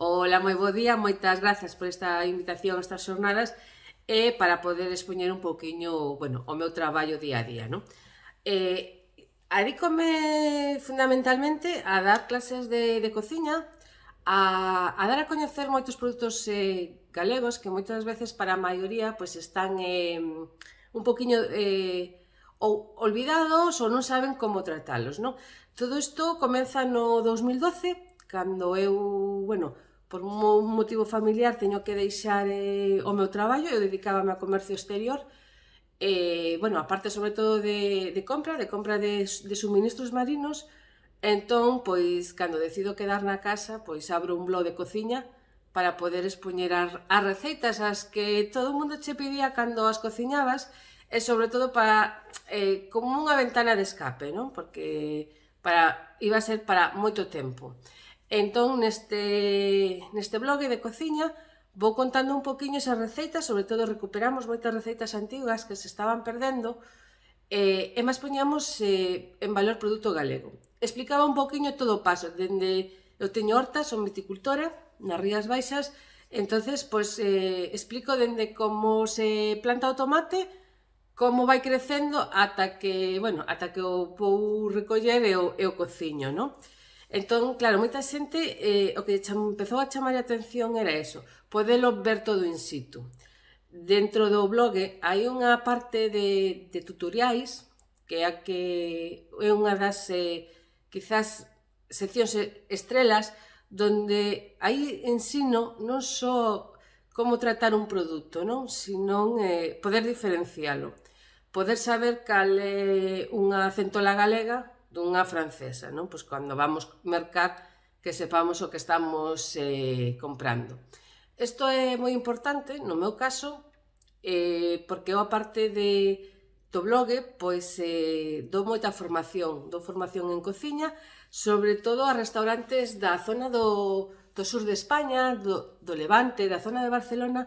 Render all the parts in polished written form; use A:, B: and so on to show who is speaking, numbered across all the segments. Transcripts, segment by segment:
A: Ola, moi bo día, moitas grazas por esta invitación a estas xornadas e para poder expoñer un pouquiño, bueno, o meu traballo día a día, non? Adícome fundamentalmente a dar clases de cociña, a dar a coñecer moitos produtos galegos que moitas veces para a maioría pois están un pouquiño ou olvidados ou non saben como tratalos, non? Todo isto comeza no 2012, cando eu, bueno, por un motivo familiar teño que deixar o meu traballo, eu dedicábame a comercio exterior, bueno, aparte sobre todo de compra de suministros marinos, entón, pois, cando decido quedar na casa, pois abro un blog de cociña para poder expoñer as receitas as que todo o mundo che pedía cando as cociñabas, e sobre todo para, como unha ventana de escape, non? Porque iba a ser para moito tempo. Entón, neste blog de cociña, vou contando un poquinho esas receitas, sobre todo recuperamos moitas receitas antigas que se estaban perdendo, e máis poñamos en valor produto galego. Explicaba un poquinho todo o paso, dende eu teño hortas, son viticultora, nas Rías Baixas, entonces, pois, explico dende como se planta o tomate, como vai crecendo ata que, bueno, ata que o vou recoller e o cociño, non? Entón, claro, moita xente, o que empezou a chamar a atención era eso, podelo ver todo in situ. Dentro do blog hai unha parte de tutoriais, que é unha das, quizás, seccións estrelas, donde aí ensino non só como tratar un produto, non? Senón poder diferencialo, poder saber cal é unha centola galega dunha francesa, non? Pois cando vamos mercar que sepamos o que estamos comprando. Isto é moi importante, no meu caso, porque eu, aparte do blog, pois dou moita formación, dou formación en cociña, sobre todo a restaurantes da zona do sur de España, do Levante, da zona de Barcelona,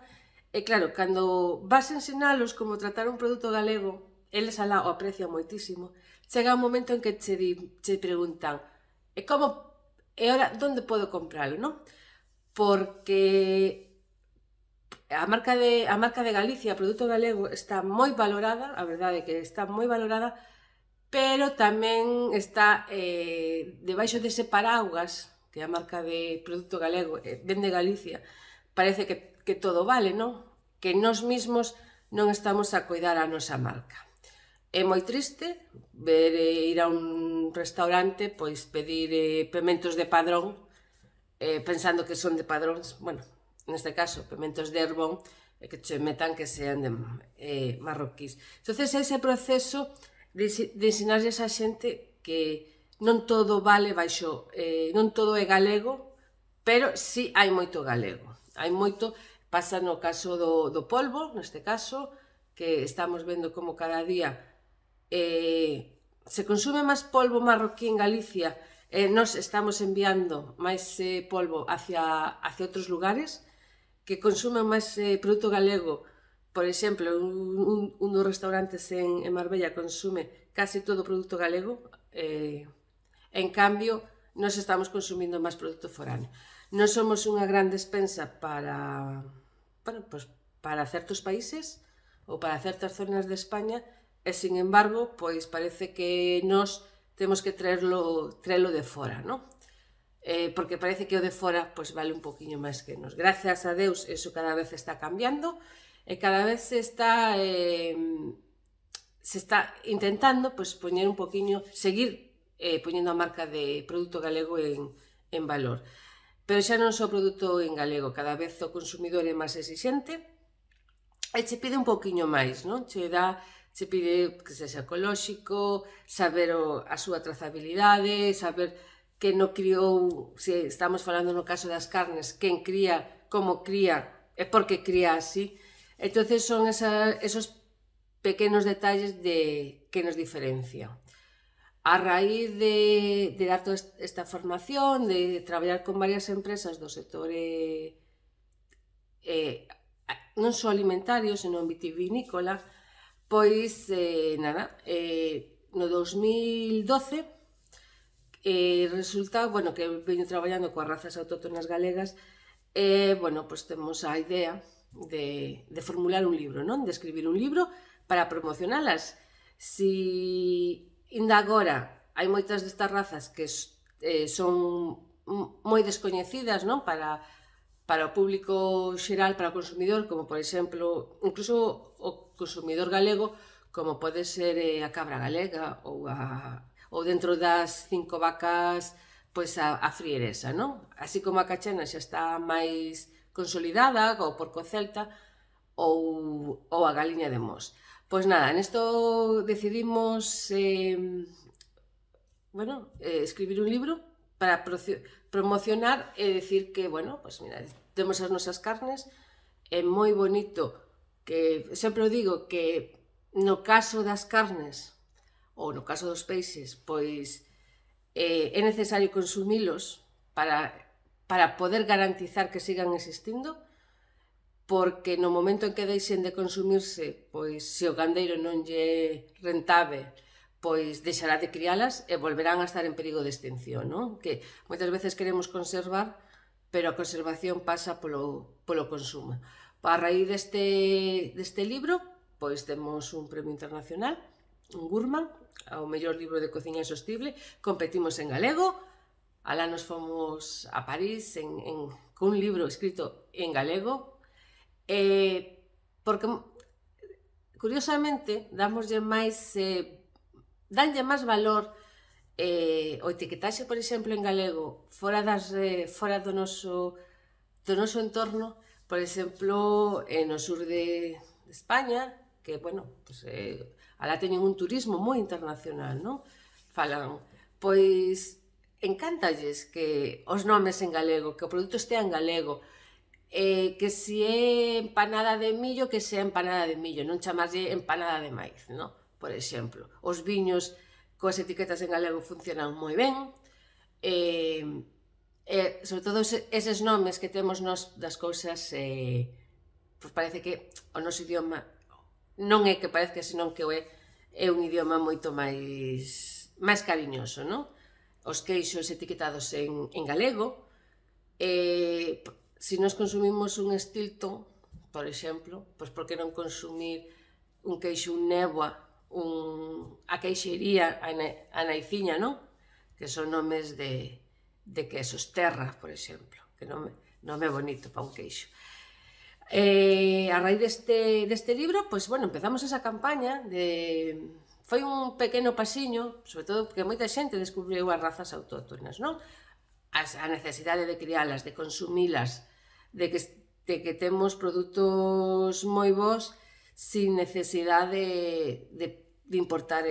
A: e claro, cando vas a ensinalos como tratar un produto galego, eles alá o aprecian moitísimo, chega un momento en que che preguntan e ora, onde podo compralo, non? Porque a marca de Galicia, o produto galego, está moi valorada, a verdade é que está moi valorada, pero tamén está debaixo dese paraguas, que é a marca de produto galego, vende Galicia, parece que todo vale, non? Que nós mesmos non estamos a coidar a nosa marca. É moi triste ver ir a un restaurante, pois pedir pementos de Padrón, pensando que son de Padróns, bueno, neste caso, pementos de Herbón, e que che metan que sean de marroquís. Entón, ese proceso de ensinarles a xente que non todo vale baixo, non todo é galego, pero sí hai moito galego. Hai moito, pasa no caso do polvo, neste caso, que estamos vendo como cada día se consume máis polvo marroquí en Galicia, nós estamos enviando máis polvo hacia outros lugares que consumen máis produto galego. Por exemplo, un dos restaurantes en Marbella consume casi todo o produto galego, en cambio, nós estamos consumindo máis produto foráneo. Non somos unha gran despensa para certos países ou para certas zonas de España, e, sin embargo, pois parece que nós temos que traerlo de fora, non? Porque parece que o de fora pois vale un poquinho máis que nos. Gracias a Deus, eso cada vez está cambiando e cada vez se está intentando pois poñer un poquinho, seguir poñendo a marca de produto galego en valor. Pero xa non só produto en galego, cada vez o consumidor é máis exixente e che pide un poquinho máis, non? Che pide que sexa ecolóxico, saber a súa trazabilidade, saber que non criou, se estamos falando no caso das carnes, quen cría, como cría e por que cría así. Entón, son esos pequenos detalles que nos diferencian. A raíz de dar toda esta formación, de traballar con varias empresas do sector non só alimentario, senón vitivinícola, pois, no 2012, resulta, bueno, que veño traballando coas razas autóctonas galegas bueno, pois temos a idea de formular un libro, non? De escribir un libro para promocionalas. Si ainda agora hai moitas destas razas que son moi descoñecidas, non? Para o público xeral, para o consumidor, como por exemplo, incluso o consumidor galego, como pode ser a cabra galega ou dentro das 5 vacas, pois a frieresa, non? Así como a cachena xa está máis consolidada, o porco celta, ou a galiña de Mos. Pois nada, nesto decidimos escribir un libro para promocionar e dicir que, bueno, pois mira, temos as nosas carnes, é moi bonito, que sempre digo que no caso das carnes, ou no caso dos peixes, pois é necesario consumilos para poder garantizar que sigan existindo, porque no momento en que deixen de consumirse, pois se o gandeiro non lle rentable, pois deixará de crialas e volverán a estar en perigo de extinción, non? Que moitas veces queremos conservar, pero a conservación pasa polo consumo. A raíz deste libro, pois temos un premio internacional, un Gurman, ao mellor libro de cociña sostible, competimos en galego, alá nos fomos a París con un libro escrito en galego, porque curiosamente danlle máis valor o etiquetaxe, por exemplo, en galego fora do noso entorno, por exemplo, no sur de España, que, bueno, alá teñen un turismo moi internacional, non? Falan, pois, encántalles que os nomes en galego, que o produto estea en galego, que se é empanada de millo, que sea empanada de millo, non chamarlle empanada de maíz, non? Por exemplo, os viños coas etiquetas en galego funcionan moi ben, sobre todo eses nomes que temos nos das cousas, pois parece que o noso idioma non é que parezca, senón que é un idioma moito máis cariñoso, non? Os queixos etiquetados en galego, se nos consumimos un Stilton, por exemplo, pois por que non consumir un queixo, un Néboa, a queixería, a Naiciña, non? Que son nomes de quesos, Terra, por exemplo, que nome bonito para un queixo. A raíz deste libro, pois, bueno, empezamos esa campaña foi un pequeno pasiño, sobre todo porque moita xente descubriu as razas autóctonas, non? A necesidade de crialas, de consumilas, de que temos produtos moi bons sin necesidade de importar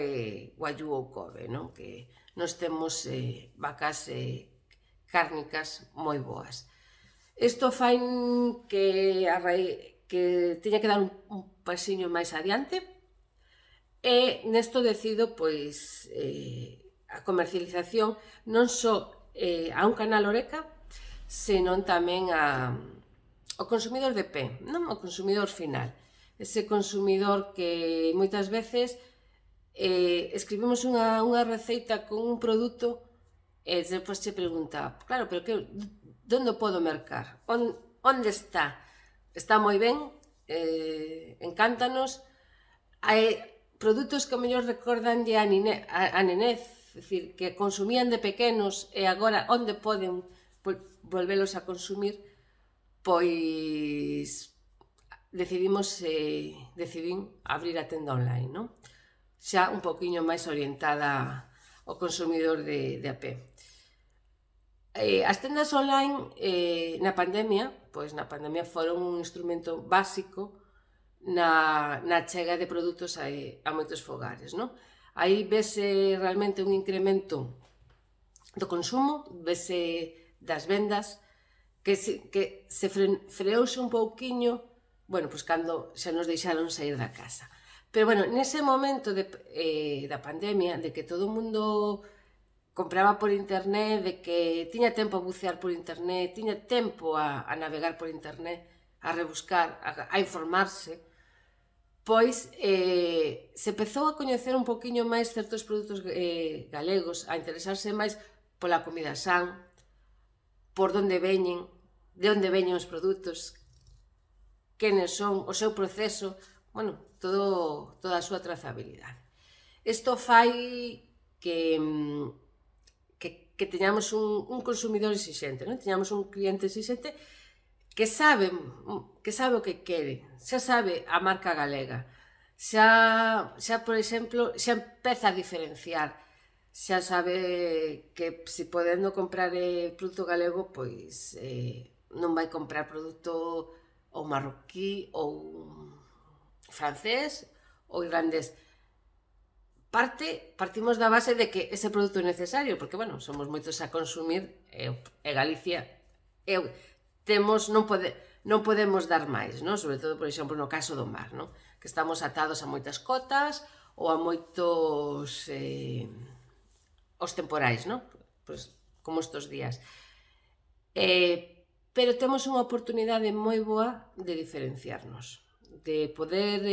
A: guayú ou Kobe, non? Que nos temos vacas cárnicas moi boas. Isto fai que teña que dar un pasiño máis adiante, e nesto decido, pois, a comercialización non só a un canal Horeca, senón tamén ao consumidor de pé, non? Ao consumidor final. Ese consumidor que moitas veces escribimos unha receita con un produto e depois che pregunta, claro, pero que onde podo mercar? Onde está? Está moi ben, encántanos. Hai produtos que ao mellor recordanlle a nenez, é dicir, que consumían de pequenos e agora onde poden volvelos a consumir, pois decidín abrir a tenda online, non? Xa un poquinho máis orientada ao consumidor de a pé. As tendas online na pandemia foron un instrumento básico na chega de produtos a moitos fogares, non? Aí vese realmente un incremento do consumo, vese das vendas, que se freouse un pouquiño, bueno, pois cando xa nos deixaron sair da casa. Pero, bueno, nese momento da pandemia, de que todo o mundo compraba por internet, de que tiña tempo a bucear por internet, tiña tempo a navegar por internet, a rebuscar, a informarse, pois se empezou a coñecer un poquinho máis certos produtos galegos, a interesarse máis pola comida san, por onde veñen, de onde veñen os produtos, quenes son, o seu proceso, bueno, toda a súa trazabilidade. Isto fai que teñamos un consumidor exixente, non? Teñamos un cliente exixente que sabe o que quere, xa sabe a marca galega, xa, por exemplo, xa empeza a diferenciar, xa sabe que se podendo comprar produto galego, pois non vai comprar produto ou marroquí ou francés ou irlandés. Partimos da base de que ese produto é necesario, porque, bueno, somos moitos a consumir e Galicia non podemos dar máis, non? Sobre todo, por exemplo, no caso do mar, non? Que estamos atados a moitas cotas ou a moitos os temporais, non? Pois, como estos días. Pero temos unha oportunidade moi boa de diferenciarnos, de poder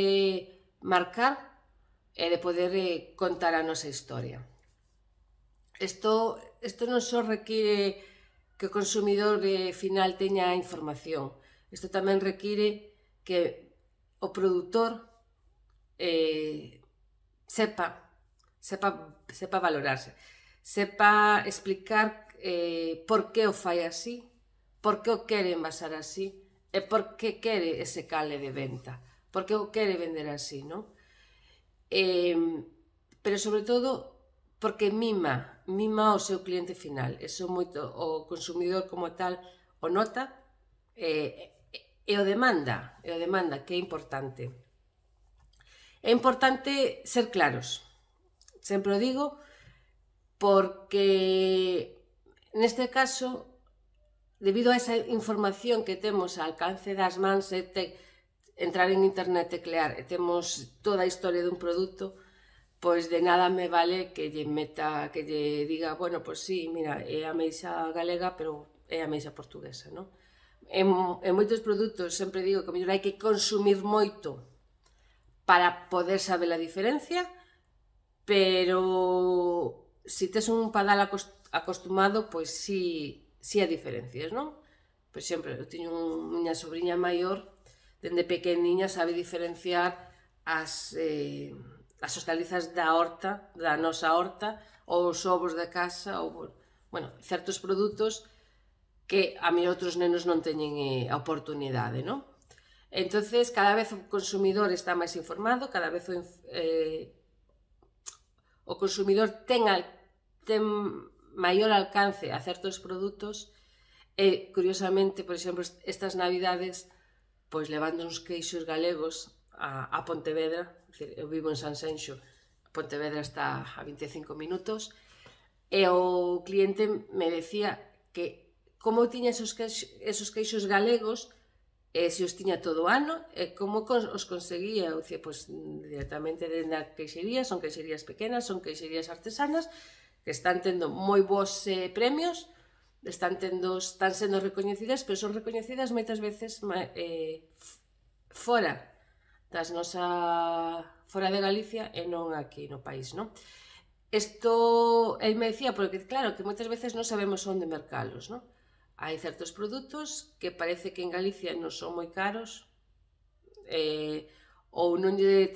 A: marcar e de poder contar a nosa historia. Isto non só require que o consumidor final teña información, isto tamén require que o produtor sepa valorarse, sepa explicar por que o fai así, por que o quere envasar así e por que quere ese cale de venta, por que o quere vender así, non? Pero sobre todo porque mima o seu cliente final, eso moito o consumidor como tal o nota e o demanda, que é importante. É importante ser claros, sempre o digo, porque neste caso, debido a esa información que temos ao alcance das mans, entrar en internet, teclear e temos toda a historia dun produto, pois de nada me vale que lle diga, bueno, pois sí, mira, é a ameixa galega, pero é a ameixa portuguesa, non? En moitos produtos sempre digo que mellor hai que consumir moito para poder saber a diferencia, pero se tes un padal acostumado, pois sí a diferencias, non? Por exemplo, eu teño unha sobrinha maior, dende pequeniña sabe diferenciar as hortalizas da horta, da nosa horta, ou os ovos de casa, ou, bueno, certos produtos que a mí outros nenos non teñen a oportunidade, non? Entonces, cada vez o consumidor está máis informado, cada vez o consumidor ten maior alcance a certos produtos e, curiosamente, por exemplo, estas navidades, pois levando uns queixos galegos a Pontevedra, eu vivo en Sanxenxo, Pontevedra está a 25 minutos, e o cliente me decía que como tiña esos queixos galegos, se os tiña todo o ano, e como os conseguía. Eu dicía, pois, directamente dende a queixería, son queixerías pequenas, son queixerías artesanas, que están tendo moi bons premios, están sendo recoñecidas, pero son recoñecidas moitas veces fora de Galicia e non aquí no país, non? Isto, el me decía, porque claro, que moitas veces non sabemos onde mercalos, non? Hai certos produtos que parece que en Galicia non son moi caros, ou non lle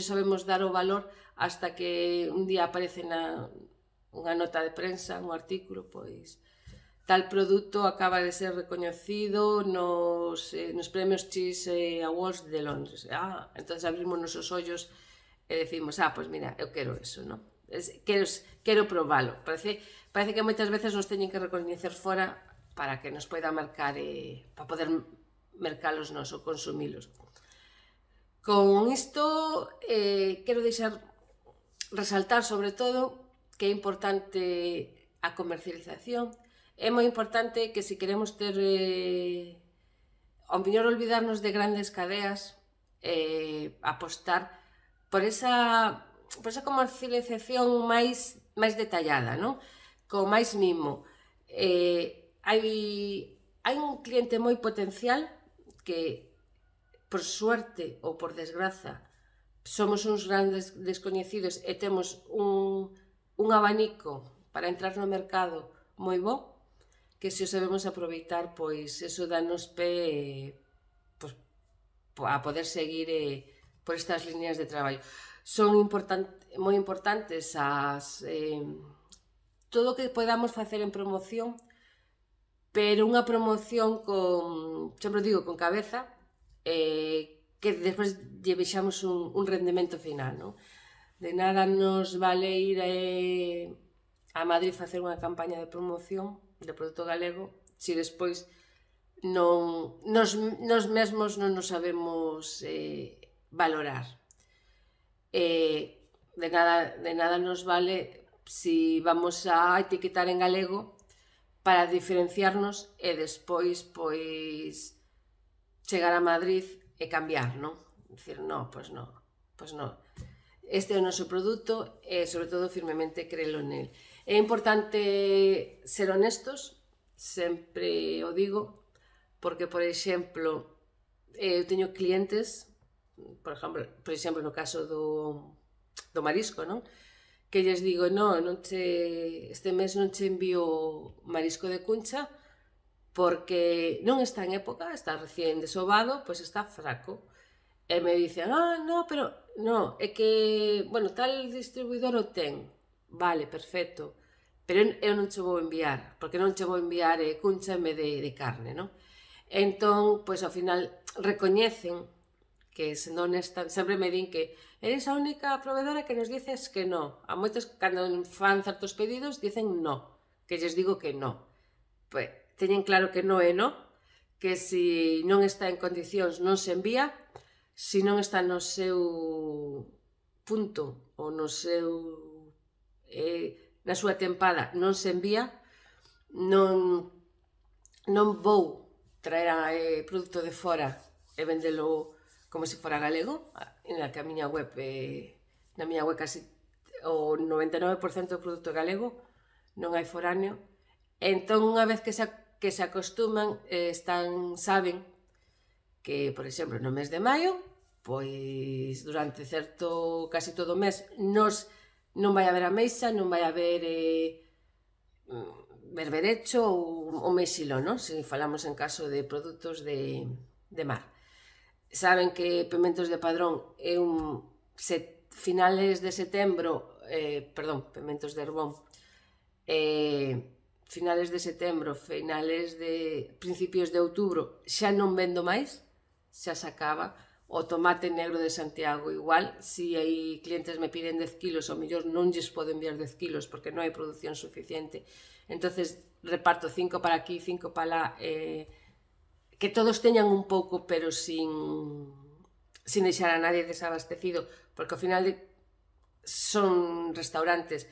A: sabemos dar o valor hasta que un día aparece unha nota de prensa, un artículo, pois tal produto acaba de ser recoñecido nos premios Cheese Awards de Londres. Entón abrimos nosos ollos e decimos, pois mira, eu quero eso, non? Quero probalo. Parece que moitas veces nos teñen que recoñecer fora para que nos poida mercar, para poder mercalos nos ou consumilos. Con isto, quero resaltar sobre todo que é importante a comercialización. É moi importante que se queremos ter, ao mellor olvidarnos de grandes cadeas, apostar por esa comercialización máis detallada, non? Con máis mimo. Hai un cliente moi potencial que, por suerte ou por desgraza, somos uns grandes descoñecidos e temos un abanico para entrar no mercado moi bo, que se o sabemos aproveitar, pois eso danos pé pois, a poder seguir por estas líneas de traballo. Son moi importantes todo o que podamos facer en promoción, pero unha promoción con, sempre digo, con cabeza, que despois lle vexamos un rendemento final, non? De nada nos vale ir a Madrid facer unha campaña de promoción de produto galego se despois nos mesmos non nos sabemos valorar. De nada nos vale si vamos a etiquetar en galego para diferenciarnos e despois pois chegar a Madrid e cambiar, non? Dicir, non, pois non, pois non. Este é o noso produto e, sobre todo, firmemente crelo nel. É importante ser honestos, sempre o digo, porque, por exemplo, eu teño clientes, por exemplo, no caso do marisco, non? Que lles digo, este mes non che envío marisco de cuncha porque non está en época, está recién desovado, pois está fraco. E me dicen, pero no, é que, bueno, tal distribuidor o ten. Vale, perfecto. Pero eu non che vou enviar, porque non che vou enviar cuncha en vez de carne, non? Entón, pois ao final recoñecen que, sendo honesta, sempre me din que eres a única proveedora que nos dices que no. A moitos, cando fan certos pedidos, dicen no, que lles digo que no. Pois, teñen claro que no é no, que se non está en condicións non se envía, se non está no seu punto ou no seu na súa tempada non se envía, non vou traer produto de fora e vendelo como se fora galego, na que a miña web casi o 99% do produto galego, non hai foráneo. Entón, unha vez que se acostuman, saben que, por exemplo, no mes de maio, pois durante casi todo o mes, non vai haber ameixa, non vai haber berberecho ou mexilo, non? Se falamos en caso de produtos de mar. Saben que Pementos de Padrón é finales de setembro, Pementos de Herbón, finales de setembro, principios de outubro, xa non vendo máis, xa se acaba. O tomate negro de Santiago igual, se hai clientes me piden 10 kilos, ao mellor non lles podo enviar 10 kilos porque non hai produción suficiente. Entonces reparto 5 para aquí, 5 para lá, que todos teñan un pouco, pero sin deixar a nadie desabastecido, porque ao final son restaurantes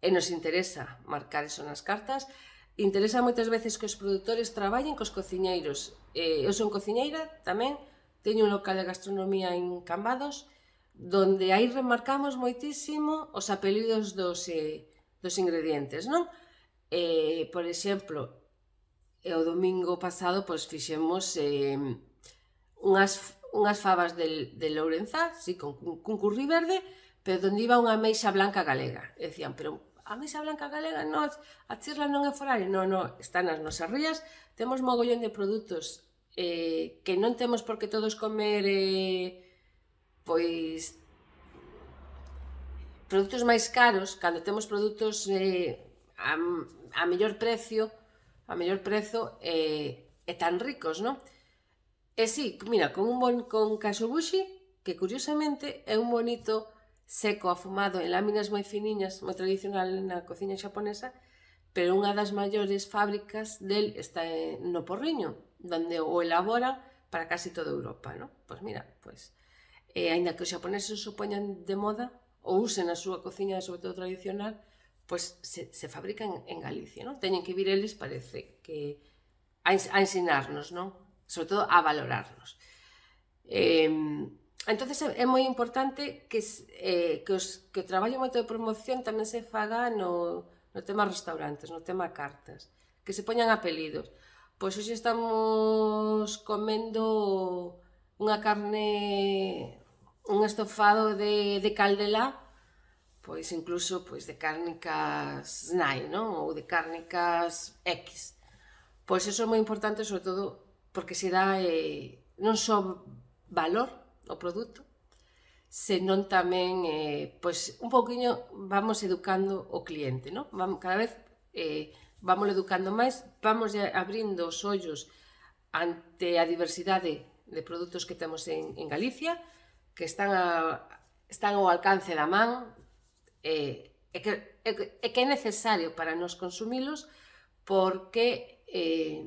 A: e nos interesa marcar eso nas cartas. Interesa moitas veces que os produtores traballen cos cociñeiros. Eu son cociñeira tamén, teño un local de gastronomía en Cambados, donde aí remarcamos moitísimo os apelidos dos ingredientes, non? Por exemplo, o domingo pasado fixemos unhas fabas de Lourenzá, con curri verde, pero onde iba unha ameixa blanca galega. E decían, pero a ameixa blanca galega, a chirla non é foraria? Non, está nas nosas rías, temos mogollón de produtos que non temos por que todos comer pois produtos máis caros, cando temos produtos a mellor prezo e tan ricos, non? E si, mira, con kashubushi, que curiosamente é un bonito seco afumado en láminas moi finiñas, moi tradicional na cociña xaponesa, pero unha das maiores fábricas del está no Porriño, donde o elabora para casi toda Europa, non? Pois mira, aínda que os xaponeses o poñan de moda, ou usen a súa cociña, sobre todo tradicional, pois se fabrican en Galicia, non? Teñen que vir eles, parece, que a ensinarnos, non? Sobre todo a valorarnos. Entonces é moi importante que o traballo moito de promoción tamén se faga no tema restaurantes, no tema cartas, que se poñan apelidos. Pois hoxe estamos comendo unha carne, un estofado de caldelá, pois incluso pois de cárnicas SNAI, non? Ou de cárnicas X. Pois iso é moi importante, sobre todo, porque se dá non só valor ao produto, senón tamén, pois, un pouquiño vamos educando o cliente, non? Cada vez vamos educando máis, vamos abrindo os ollos ante a diversidade de produtos que temos en Galicia, que están ao alcance da man, e que é necesario para nos consumilos, porque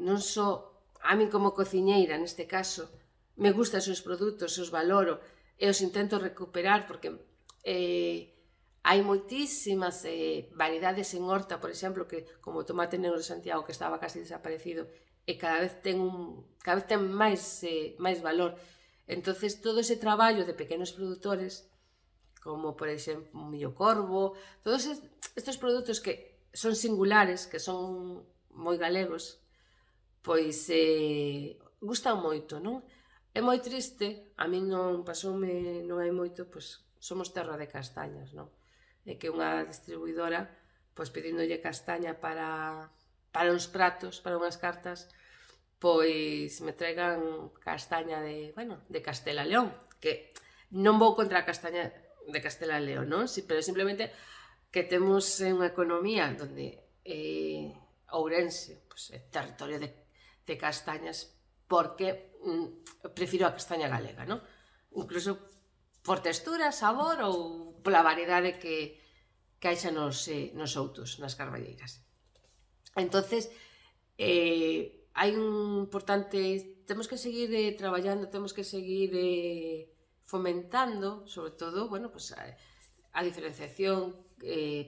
A: non só a min como cociñeira, neste caso, me gustan os seus produtos, os valoro e os intento recuperar, porque hai moitísimas variedades en horta, por exemplo, que como o tomate negro de Santiago, que estaba casi desaparecido, e cada vez ten máis valor. Entonces, todo ese traballo de pequenos produtores, como por exemplo un millo corvo, todos estes produtos que son singulares, que son moi galegos, pois gustan moito, non? É moi triste, a min non pasoume non hai moito, pois somos terra de castañas, non? É que unha distribuidora, pois pedíndolle castaña para uns pratos, para unhas cartas, pois me traigan castaña de Castela e León, que non vou contra a castaña de Castela e León, non? Pero simplemente que temos unha economía onde Ourense é territorio de castañas, porque prefiro a castaña galega, non? Incluso por textura, sabor ou pola variedade que haixa nos outos, nas carballeiras. Entonces, hai un importante, temos que seguir traballando, temos que seguir fomentando, sobre todo, a diferenciación,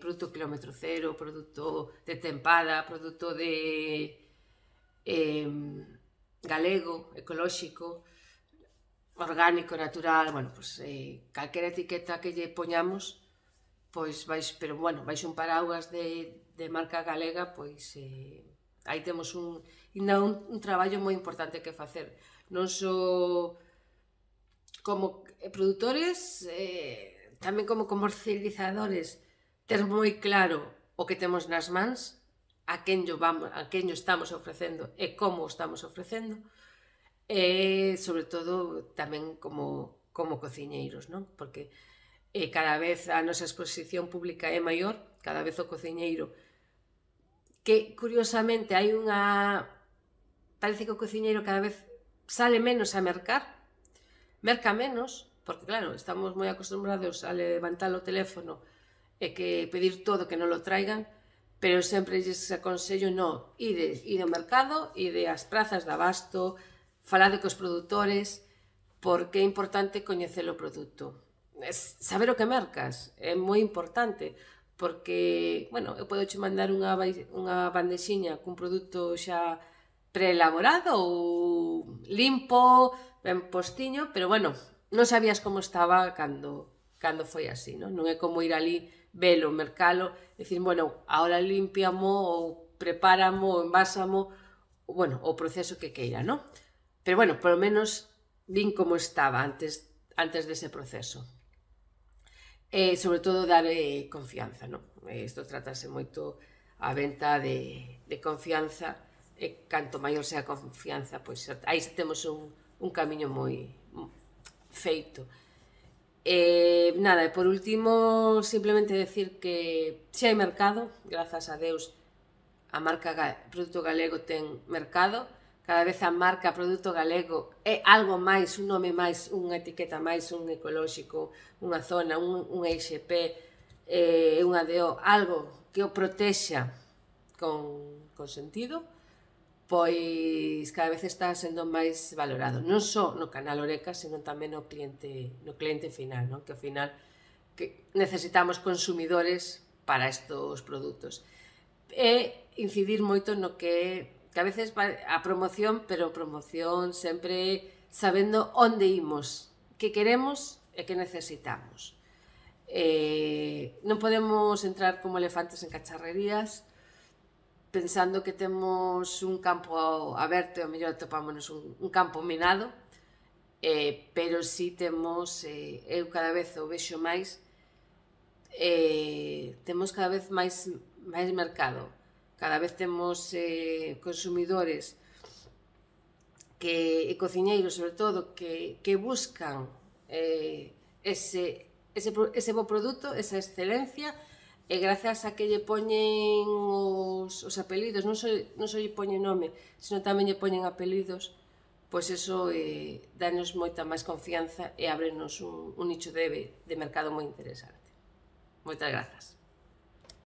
A: produto kilómetro cero, produto de tempada, produto de galego, ecolóxico, orgánico, natural, calquera etiqueta que lle poñamos, pois baixo un paraugas de marca galega, pois aí temos un traballo moi importante que facer, non só como produtores, tamén como comercializadores, ter moi claro o que temos nas mans, a quen o estamos ofrecendo e como o estamos ofrecendo, e, sobre todo, tamén como cociñeiros, non? Porque cada vez a nosa exposición pública é maior, cada vez o cociñeiro, que, curiosamente, parece que o cociñeiro cada vez sale menos a merca menos, porque, claro, estamos moi acostumbrados a levantar o teléfono e que pedir todo que non lo traigan, pero sempre lles aconsello ide ao mercado, ide ás prazas de abasto, falade cos produtores, porque é importante coñecer o produto. Saber o que mercas é moi importante, porque, eu podo che mandar unha bandexiña cun produto xa preelaborado ou limpo, ben postiño, pero, non sabías como estaba cando foi así, non? Non é como ir ali, velo, mercalo, dicir, ahora limpiamo ou prepáramo ou envásamo, o proceso que queira, non? Pero, polo menos vin como estaba antes dese proceso. E, sobre todo, dar confianza, non? Isto trátase moito a venta de confianza, e canto maior sea a confianza, pois aí temos un camiño moi feito. E, por último, simplemente decir que se hai mercado, grazas a Deus, a marca Produto Galego ten mercado, cada vez a marca Produto Galego é algo máis, un nome máis, unha etiqueta máis, un ecolóxico, unha zona, un IXP, un ADO, algo que o protexa con sentido, pois cada vez está sendo máis valorado, non só no canal Oreca, senón tamén no cliente final, non? Que ao final necesitamos consumidores para estes produtos. E incidir moito no que a veces a promoción, pero promoción sempre sabendo onde imos, que queremos e que necesitamos. Non podemos entrar como elefantes en cacharrerías, pensando que temos un campo aberto e ao mellor atopámonos un campo minado, pero si temos, eu cada vez o vexo máis, temos cada vez máis mercado, cada vez temos consumidores e cociñeiros, sobre todo, que buscan ese bo produto, esa excelencia, e grazas a que lle poñen os apelidos, non só lle poñen nome, sino tamén lle poñen apelidos, pois eso danos moita máis confianza e ábrenos un nicho de mercado moi interesante. Moitas grazas.